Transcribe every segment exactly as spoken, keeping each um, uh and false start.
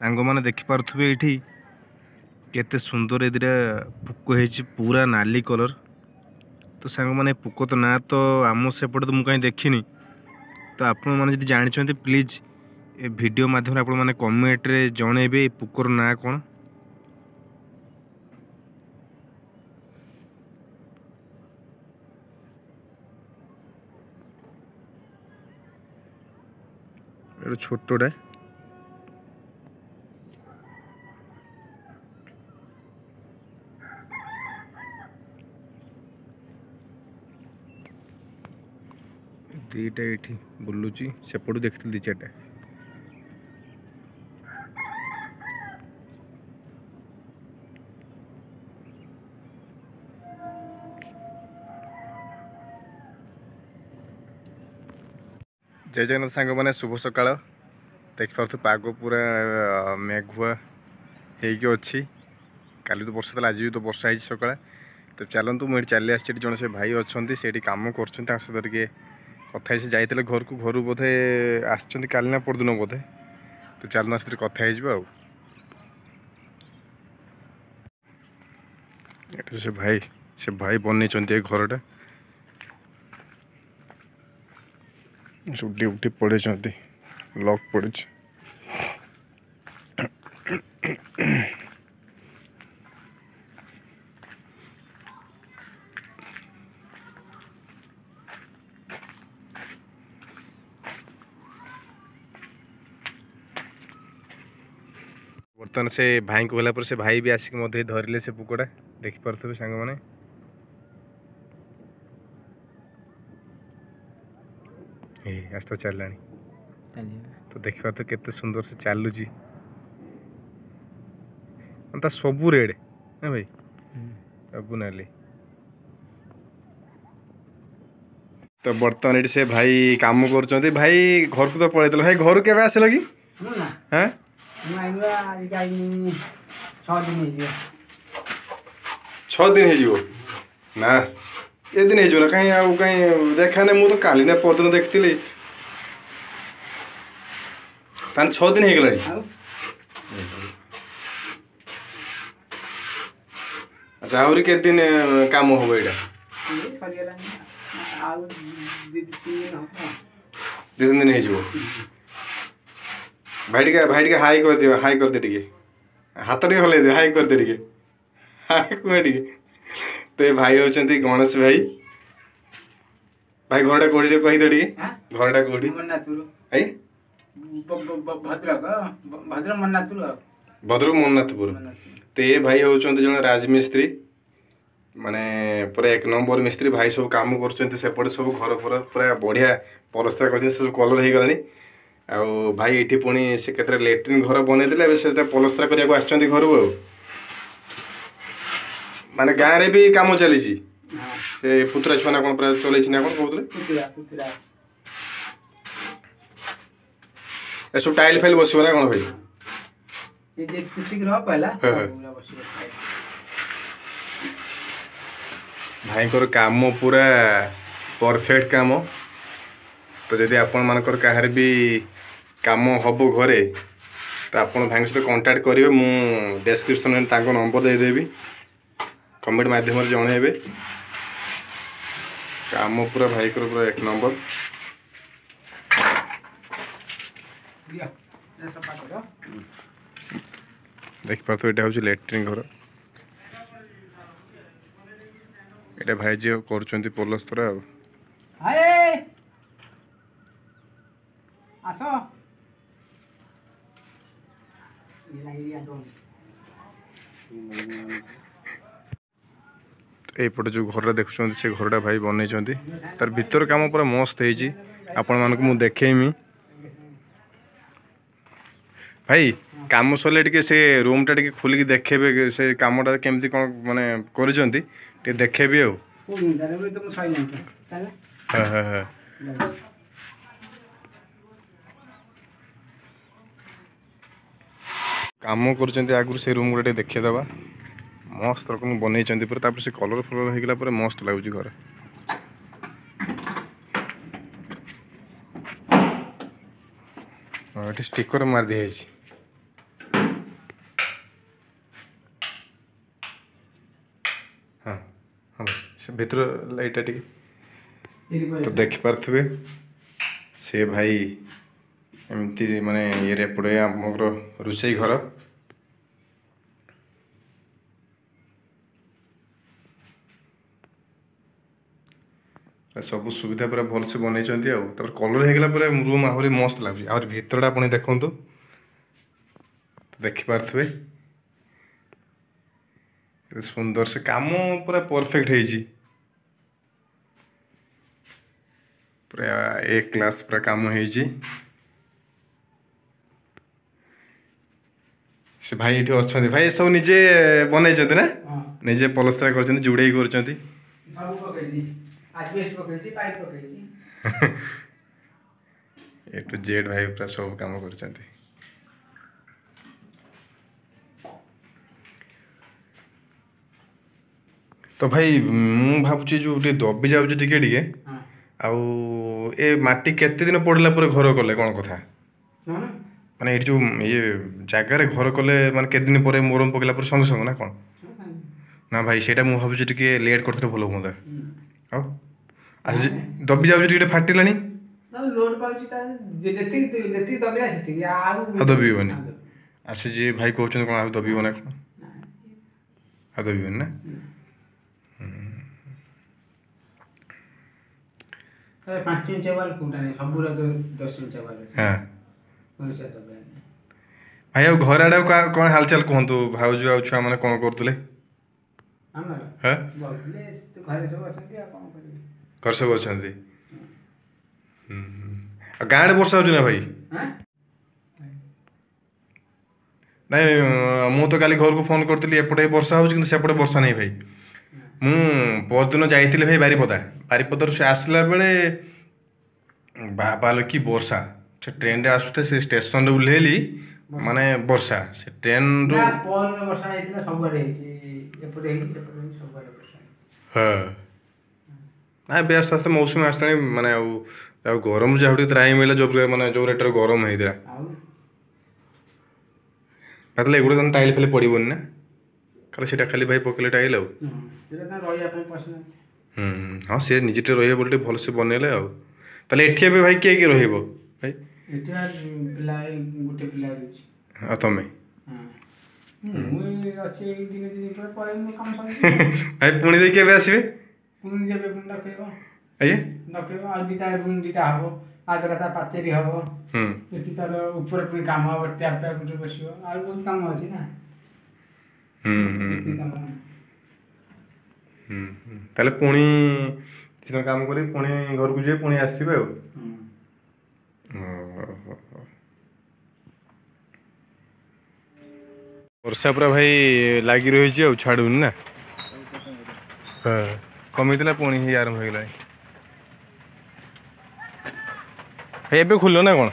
ସାଙ୍ଗମାନେ ଦେଖିପାରୁଥିବେ ଏଇଠି କେତେ ସୁନ୍ଦର ଏ ଦୁଇଟା ପୋକ ହେଇଛି, ପୁରା ନାଲି କଲର୍। ତ ସାଙ୍ଗମାନେ, ପୋକ ତ ନାଁ ତ ଆମ ସେପଟେ ତ ମୁଁ କାହିଁ ଦେଖିନି। ତ ଆପଣମାନେ ଯଦି ଜାଣିଛନ୍ତି, ପ୍ଲିଜ୍ ଏ ଭିଡ଼ିଓ ମାଧ୍ୟମରେ ଆପଣମାନେ କମେଣ୍ଟରେ ଜଣେଇବେ ଏ ପୋକର ନାଁ କ'ଣ। ଏଟା ଛୋଟଟା, ଦୁଇଟା ଏଇଠି ବୁଲୁଛି। ସେପଟୁ ଦେଖିଥିଲି ଦୁଇ ଚାରିଟା। ଜୟ ଜଗନ୍ନାଥ ସାଙ୍ଗମାନେ, ଶୁଭ ସକାଳ। ଦେଖିପାରୁଥିବେ ପାଗ ପୁରା ମେଘୁଆ ହେଇକି ଅଛି। କାଲି ତ ବର୍ଷା ଥିଲା, ଆଜି ବି ତ ବର୍ଷା ହେଇଛି ସକାଳେ। ତ ଚାଲନ୍ତୁ, ମୁଁ ଏଠି ଚାଲି ଆସିଛି। ଏଠି ଜଣେ ସେ ଭାଇ ଅଛନ୍ତି, ସେଇଠି କାମ କରୁଛନ୍ତି, ତାଙ୍କ ସହିତ ଟିକେ କଥା ହେଇ। ସେ ଯାଇଥିଲେ ଘରକୁ, ଘରୁ ବୋଧେ ଆସିଛନ୍ତି କାଲି ନା ପରଦିନ ବୋଧେ। ତ ଚାଲୁନ, ସେଥିରେ କଥା ହେଇଯିବ। ଆଉ ଏଠି ସେ ଭାଇ ସେ ଭାଇ ବନେଇଛନ୍ତି ଏ ଘରଟା। ସବୁ ଡ୍ୟୁଟି ପଳେଇଛନ୍ତି, ଲକ୍ ପଡ଼ିଛି। ବର୍ତ୍ତମାନ ସେ ଭାଇଙ୍କୁ ଗଲା ପରେ ସେ ଭାଇ ବି ଆସିକି ମଧ୍ୟ ଧରିଲେ ସେ ପୋକଟା। ଦେଖିପାରୁଥିବେ ସାଙ୍ଗମାନେ, ଏଇ ଆସ୍ତେ ଚାଲିଲାଣି। ତ ଦେଖିପାରୁଥିବେ କେତେ ସୁନ୍ଦର ସେ ଚାଲୁଛି। ତା ସବୁ ରେଡ୍ ନା ଭାଇ, ସବୁ ନାଲି। ତ ବର୍ତ୍ତମାନ ଏଠି ସେ ଭାଇ କାମ କରୁଛନ୍ତି। ଭାଇ ଘରକୁ ତ ପଳେଇଥିଲେ। ଭାଇ, ଘରୁ କେବେ ଆସିଲ କି? ହଁ, ଛଅ ଦିନ ହେଇଯିବ ନା ଏ ଦିନ ହେଇଯିବ ନା? କାହିଁ ଆଉ କାହିଁ ଦେଖା ନାହିଁ। ମୁଁ ତ କାଲି ନା ପରଦିନ ଦେଖିଥିଲି। ତାହେଲେ ଛଅ ଦିନ ହେଇଗଲାଣି। ଆଚ୍ଛା, ଆହୁରି କେତେ ଦିନ କାମ ହବ ଏଇଟା? ଦୁଇ ତିନି ଦିନ ହେଇଯିବ। ଭାଇ ଟିକେ, ଭାଇ ଟିକେ ହାଇ କରିଦିଅ, ହାଇ କରିଦେ ଟିକେ, ହାତ ଟିକେ ହଲେଇ ଦେ, ହାଇ କରିଦେ ଟିକେ, ହାଇ କୁହ ଟିକେ। ତ ଏ ଭାଇ ହେଉଛନ୍ତି ଗଣେଶ ଭାଇ। ଭାଇ, ଘରଟା କୋଉଠି ଟିକେ କହିଦେ ଟିକେ, ଘରଟା କୋଉଠି? ଆଜ୍ଞା, ଭଦ୍ରକ, ଭଦ୍ରକ ମନ୍ନାଥପୁର। ଭଦ୍ରକ ମନ୍ନାଥପୁର। ତ ଏ ଭାଇ ହେଉଛନ୍ତି ଜଣେ ରାଜମିସ୍ତ୍ରୀ, ମାନେ ପୁରା ଏକ ନମ୍ବର ମିସ୍ତ୍ରୀ। ଭାଇ ସବୁ କାମ କରୁଛନ୍ତି ସେପଟେ, ସବୁ ଘର ଫର ପୁରା ବଢ଼ିଆ ପଲସ୍ତରା କରିଛନ୍ତି, ସେ ସବୁ କଲର୍ ହେଇଗଲାଣି। ଆଉ ଭାଇ ଏଇଠି ପୁଣି ସେ କେତେଟା ଲାଟ୍ରିନ୍ ଘର ବନେଇଦେଲେ, ଏବେ ସେଟା ପଲସ୍ତରା କରିବାକୁ ଆସିଛନ୍ତି ଘରୁ। ଆଉ ମାନେ ଗାଁରେ ବି କାମ ଚାଲିଛି। ସେ ପୁତୁରା ଛୁଆ ନା କ'ଣ ପୁରା ଚଲେଇଛି ନା କ'ଣ କହୁଥିଲେ। ଏସବୁ ଟାଇଲ୍ ଫାଇଲ୍ ବସିବ ନା କ'ଣ ଭାଇ? ଭାଇଙ୍କର କାମ ପୁରା ପରଫେକ୍ଟ କାମ। ତ ଯଦି ଆପଣମାନଙ୍କର କାହାର ବି କାମ ହେବ ଘରେ, ତ ଆପଣ ଭାଇଙ୍କ ସହିତ କଣ୍ଟାକ୍ଟ କରିବେ। ମୁଁ ଡେସ୍କ୍ରିପସନ୍ରେ ତାଙ୍କ ନମ୍ବର ଦେଇଦେବି, କମେଣ୍ଟ ମାଧ୍ୟମରେ ଜଣେଇବେ। କାମ ପୁରା ଭାଇଙ୍କର ପୁରା ଏକ ନମ୍ବର। ଦେଖିପାରୁଥିବେ, ଏଇଟା ହେଉଛି ଲାଟ୍ରିନ୍ ଘର। ଏଇଟା ଭାଇ ଯିଏ କରୁଛନ୍ତି ପଲସ୍ତରା। ଆଉ ଆସ। ଏଇପଟେ ଯେଉଁ ଘରଟା ଦେଖୁଛନ୍ତି, ସେ ଘରଟା ଭାଇ ବନେଇଛନ୍ତି। ତାର ଭିତର କାମ ପୁରା ମସ୍ତ ହେଇଛି, ଆପଣମାନଙ୍କୁ ମୁଁ ଦେଖେଇମି। ଭାଇ, କାମ ସରିଲେ ଟିକେ ସେ ରୁମ୍ଟା ଟିକେ ଖୋଲିକି ଦେଖେଇବେ, ସେ କାମଟା କେମିତି କ'ଣ ମାନେ କରିଛନ୍ତି ଟିକେ ଦେଖେଇବି। ଆଉ ହଁ ହଁ ହଁ, କାମ କରୁଛନ୍ତି ଆଗରୁ ସେ ରୁମ୍ ଗୁଡ଼ା ଟିକେ ଦେଖେଇଦେବା। ମସ୍ତ ରକମ ବନେଇଛନ୍ତି ପୁରା। ତାପରେ ସେ କଲର୍ ଫଲର୍ ହେଇଗଲା ପରେ ମସ୍ତ ଲାଗୁଛି ଘରେ। ଏଠି ଷ୍ଟିକର ମାରି ଦିଆହେଇଛି। ହଁ, ସେ ଭିତର ଲାଇଟ୍ଟା ଟିକେ ତ ଦେଖିପାରୁଥିବେ। ସେ ଭାଇ ଏମିତି ମାନେ ଇଏରେ ଏପଟେ ଆମର ରୋଷେଇ ଘର। ସବୁ ସୁବିଧା ପୁରା ଭଲସେ ବନେଇଛନ୍ତି। ଆଉ ତାପରେ କଲର୍ ହେଇଗଲା ପରେ ରୁମ୍ ଆହୁରି ମସ୍ତ ଲାଗୁଛି। ଆହୁରି ଭିତରଟା ଆପଣ ଦେଖନ୍ତୁ, ଦେଖିପାରୁଥିବେ କେତେ ସୁନ୍ଦର ସେ କାମ ପୁରା ପରଫେକ୍ଟ ହେଇଛି, ପୁରା ଏ କ୍ଲାସ୍ ପୁରା କାମ ହେଇଛି। ସେ ଭାଇ ଏଠି ଅଛନ୍ତି। ଭାଇ ସବୁ ନିଜେ ବନେଇଛନ୍ତି ନା? ନିଜେ ପଲସ୍ତରା କରିଛନ୍ତି, ଜୁଡ଼େଇ କରୁଛନ୍ତି, ସବୁ ପକେଇଛି, ଆଜବେଷ୍ଟ ପକେଇଛି, ପାଇପ୍ ପକେଇଛି, ଏ ଟୁ ଜେଡ୍। ଭାଇ ପୁରା ସବୁ କାମ କରୁଛନ୍ତି। ତ ଭାଇ ମୁଁ ଭାବୁଛି ଯୋଉ ଟିକେ ଦବି ଯାଉଛି ଟିକେ ଟିକେ, ଆଉ ଏ ମାଟି କେତେ ଦିନ ପଡ଼ିଲା ପରେ ଘର କଲେ କ'ଣ କଥା? ମାନେ ଏଇଠି ଯୋଉ ଇଏ ଜାଗାରେ ଘର କଲେ, ମାନେ କେତେ ଦିନ ପରେ ମୋରମ ପକେଇଲା ପରେ ସଙ୍ଗେ ସଙ୍ଗେ ନା କ'ଣ? ନା ଭାଇ, ସେଇଟା ମୁଁ ଭାବୁଛି ଟିକେ ଲେଟ୍ କରିଥିଲେ ଭଲ ହୁଅନ୍ତା। ଆଉ ଆଜି ଦବି ଯାଉଛି ଟିକେ, ଫାଟିଲାଣି। ଲୋଡ୍ ପାଉଛି, ଯେତିକି ଯେତିକି ଦବିଲା ସେତିକି, ଆଉ ଆଉ ଦବିବନି। ଆଉ ସେ ଯିଏ ଭାଇ କହୁଛନ୍ତି କ'ଣ ଆଉ ଦବିବ ନା କ'ଣ? ଆଉ ଦବିବନି ନା? ପାଞ୍ଚ ଇଞ୍ଚ ୱାଲ୍ କୋଉଟା ନାହିଁ, ସବୁର ଦଶ ଇଞ୍ଚ ୱାଲ୍। ହଁ ଭାଇ, ଆଉ ଘର ଆଡ଼େ କ'ଣ ହାଲଚାଲ କୁହନ୍ତୁ? ଭାଉଜ ଆଉ ଛୁଆମାନେ କ'ଣ କରୁଥିଲେ? ହଁ, ଘରେ ସବୁ ଅଛନ୍ତି। ଆଉ କ'ଣ କରିବେ, ଘରେ ସବୁ ଅଛନ୍ତି। ଆଉ ଗାଁ ଆଡ଼େ ବର୍ଷା ହେଉଛି ନା ଭାଇ? ନାଇଁ, ମୁଁ ତ କାଲି ଘରକୁ ଫୋନ୍ କରିଥିଲି, ଏପଟେ ବର୍ଷା ହେଉଛି କିନ୍ତୁ ସେପଟେ ବର୍ଷା ନାହିଁ ଭାଇ। ମୁଁ ପରଦିନ ଯାଇଥିଲି ଭାଇ ବାରିପଦା। ବାରିପଦାରୁ ସେ ଆସିଲା ବେଳେ ବାବାଲ କି ବର୍ଷା! ସେ ଟ୍ରେନରେ ଆସୁଥାଏ, ସେ ଷ୍ଟେସନରେ ଓହ୍ଲେଇଲି, ମାନେ ବର୍ଷା ସେ ଟ୍ରେନରୁ। ବର୍ଷା ହେଇଥିଲା, ସବୁଆଡ଼େ ହେଇଛି, ଏପଟେ ହେଇଛି, ସେପଟେ ହେଇଛି, ସବୁଆଡ଼େ ବର୍ଷା। ହଁ ନା, ଏବେ ଆସ୍ତେ ଆସ୍ତେ ମୌସୁମୀ ଆସିଲାଣି। ମାନେ ଆଉ ଆଉ ଗରମ ଯାହା ଟିକେ ତ୍ରାହି ମିଳିଲା, ଯୋଉ ମାନେ ଯୋଉ ରେଟ୍ରେ ଗରମ ହେଇଥିଲା। ତାହେଲେ ଏଗୁଡ଼ା ତାହେଲେ ଟାଇଲ୍ ଫାଇଲ୍ ପଡ଼ିବନି ନା? ଖାଲି ସେଇଟା ଖାଲି ଭାଇ ପକେଇଲେ ଟାଇଲ୍ ଆଉ। ହୁଁ, ହଁ, ସେ ନିଜେ ଟିକେ ରହିବ ବୋଲି ଟିକେ ଭଲସେ ବନେଇଲେ। ଆଉ ତାହେଲେ ଏଠି ଏବେ ଭାଇ କିଏ କିଏ ରହିବ ଭାଇ? ଏଠି ପିଲା ଗୋଟେ ପିଲା ରହୁଛି। ଆଉ ତମେ? ମୁଁ ଅଛି ଦିନେ ଦିନ ପରେ ପଳେଇବି କାମ। ଭାଇ ପୁଣି ଦେଇକି କେବେ ଆସିବେ? ପୁଣି ଯେବେ ପୁଣି ଡକେଇବ। ଆଜ୍ଞା, ଡକେଇବ। ଆଉ ଦିଟା ରୁମ୍ ଦିଟା ହବ, ଆଗରେ ତା ପାଚେରୀ ହବ, ଏଠି ତାର ଉପରେ ପୁଣି କାମ ହବ, ଟ୍ୟାପ୍ ଟ୍ୟାପ୍ ବସିବ, ଆଉ ବହୁତ କାମ ଅଛି ନା। ତାହେଲେ ପୁଣି କିଛି କାମ କରି ପୁଣି ଘରକୁ ଯିବେ, ପୁଣି ଆସିବେ। ଆଉ ବର୍ଷା ପୁରା ଭାଇ ଲାଗି ରହିଛି ଆଉ ଛାଡ଼ୁନି ନା? ହଁ, କମିଥିଲା ପୁଣି ହେଇ ଆରମ୍ଭ ହେଇଗଲାଣି ଭାଇ। ଏବେ ଖୋଲିଲ ନା କ'ଣ?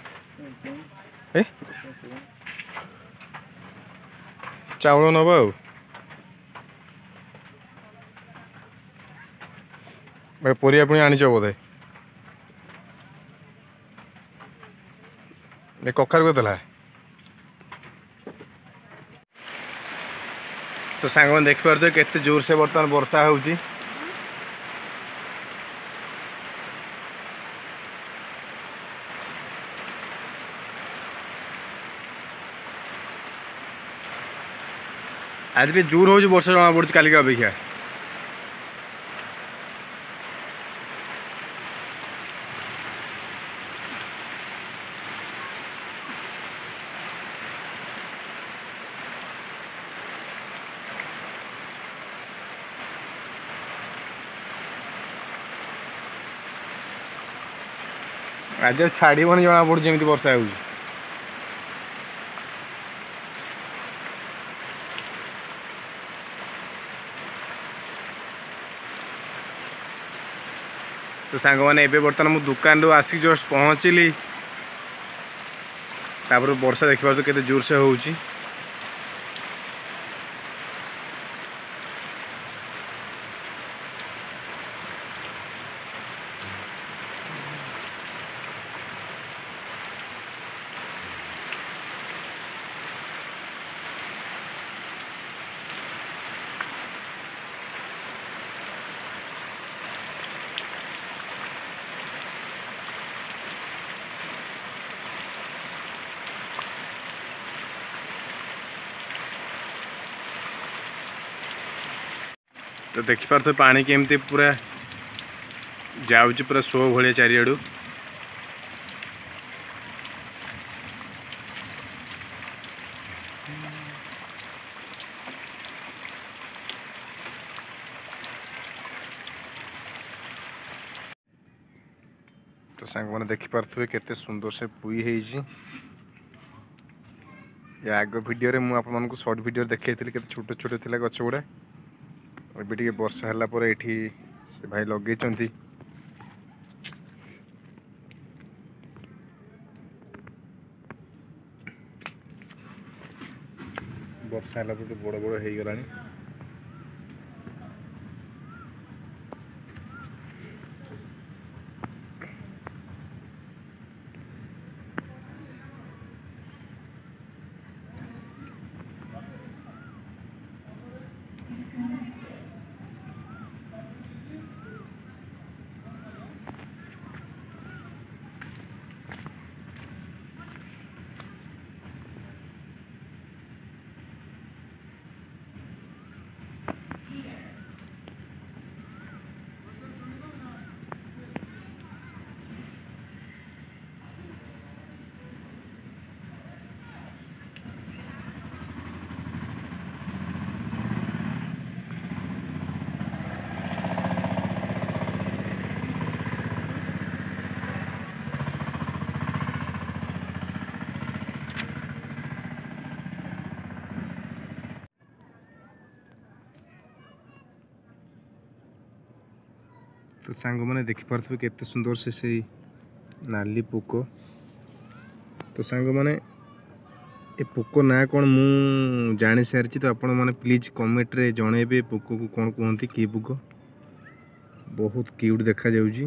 ଏ ଚାଉଳ ନେବ ଆଉ ଭାଇ ପରିବା ପୁଣି ଆଣିଛ ବୋଧେ? ଏ କଖାରୁ କେତେ ହେଲା? ତ ସାଙ୍ଗମାନେ ଦେଖିପାରୁଥିବେ କେତେ ଜୋରସେ ବର୍ତ୍ତମାନ ବର୍ଷା ହେଉଛି। ଆଜି ଟିକେ ଜୋର ହେଉଛି ବର୍ଷା ଜଣା ପଡୁଛି କାଲିକା ଅପେକ୍ଷା। ଆଜି ଆଉ ଛାଡ଼ିବନି ଜଣା ପଡୁଛି ଏମିତି ବର୍ଷା ହେଉଛି। ତ ସାଙ୍ଗମାନେ, ଏବେ ବର୍ତ୍ତମାନ ମୁଁ ଦୋକାନରୁ ଆସିକି ଜଷ୍ଟ ପହଞ୍ଚିଲି, ତାପରେ ବର୍ଷା ଦେଖିପାରୁଛ କେତେ ଜୋରସେ ହେଉଛି। ତ ଦେଖିପାରୁଥିବେ ପାଣି କେମିତି ପୁରା ଯାଉଛି, ପୁରା ଶୋ ଭଳିଆ ଚାରିଆଡ଼ୁ। ତ ସାଙ୍ଗମାନେ, ଦେଖିପାରୁଥିବେ କେତେ ସୁନ୍ଦର ସେ ପୁଇ ହେଇଛି। ଏ ଆଗ ଭିଡ଼ିଓରେ ମୁଁ ଆପଣମାନଙ୍କୁ ସର୍ଟ ଭିଡ଼ିଓରେ ଦେଖେଇଥିଲି, କେତେ ଛୋଟ ଛୋଟ ଥିଲା ଗଛ ଗୁଡ଼ା। ଏବେ ଟିକେ ବର୍ଷା ହେଲା ପରେ ଏଇଠି ସେ ଭାଇ ଲଗେଇଛନ୍ତି। ବର୍ଷା ହେଲା ପରେ ବଡ଼ ବଡ଼ ହେଇଗଲାଣି। ତ ସାଙ୍ଗମାନେ, ଦେଖିପାରୁଥିବେ କେତେ ସୁନ୍ଦର ସେ ସେଇ ନାଲି ପୋକ। ତ ସାଙ୍ଗମାନେ, ଏ ପୋକ ନାଁ କ'ଣ ମୁଁ ଜାଣିସାରିଛି। ତ ଆପଣମାନେ ପ୍ଲିଜ୍ କମେଣ୍ଟରେ ଜଣେଇବେ ପୋକକୁ କ'ଣ କୁହନ୍ତି, କି ପୋକ। ବହୁତ କ୍ୟୁଟ୍ ଦେଖାଯାଉଛି।